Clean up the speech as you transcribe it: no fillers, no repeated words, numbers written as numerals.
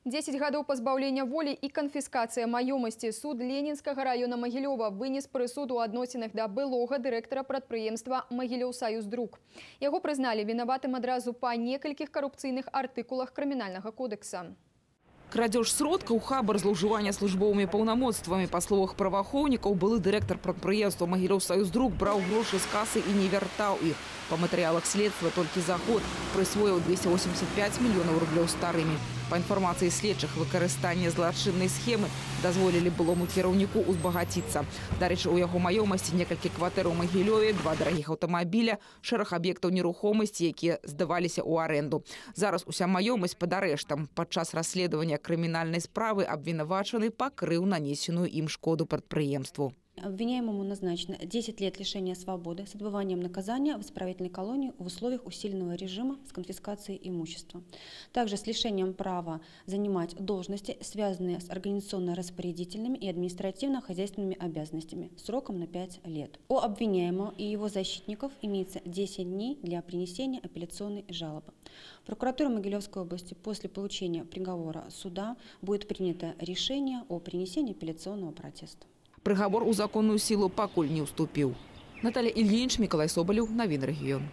10 гадоў пазбаўлення волі і канфіскацыя маёмасці. Суд Ленінскага района Магілёва вынес прысуд у адносінах да былога дырэктара прадпрыемства «Магілёўсаюздрук». Яго прызналі вінаватым адразу па некалькіх карупцыйных артыкулах крымінальнага кодекса. Крадеж сродкаў, хабар, злоўжыванне службовымі паўнамоцтвамі. Па словах праваахоўнікаў, былы дырэктар прадпрыемства «Магілёўсаюздрук» браў грошы з касы і не вяртаў іх. Па матэрыялах следства толькі за год прысвоіў 285 мільёнаў рублёў старымі. Па інфармацыі следчых, выкарыстанне злачыннай схемы дазволілі былому кіраўніку узбагаціцца. Дарэчы, у яго маёмасці некалькі кватэр у Магілёве, 2 дарагіх аўтамабіля, шэраг аб'ектаў нерухомасці, якія здаваліся ў арэнду. Зараз уся маёмасць пад арэштам. Падчас расследавання крымінальнай справы абвінавачаны пакрыў нанесеную ім шкоду прадпрыемству. Обвиняемому назначено 10 лет лишения свободы с отбыванием наказания в исправительной колонии в условиях усиленного режима с конфискацией имущества. Также с лишением права занимать должности, связанные с организационно-распорядительными и административно-хозяйственными обязанностями, сроком на 5 лет. У обвиняемого и его защитников имеется 10 дней для принесения апелляционной жалобы. Прокуратура Могилевской области после получения приговора суда будет принято решение о принесении апелляционного протеста. Прыгабор у законную сілу пакуль не ўступіў. Наталья Ильинич, Миколай Соболев, Новины регион.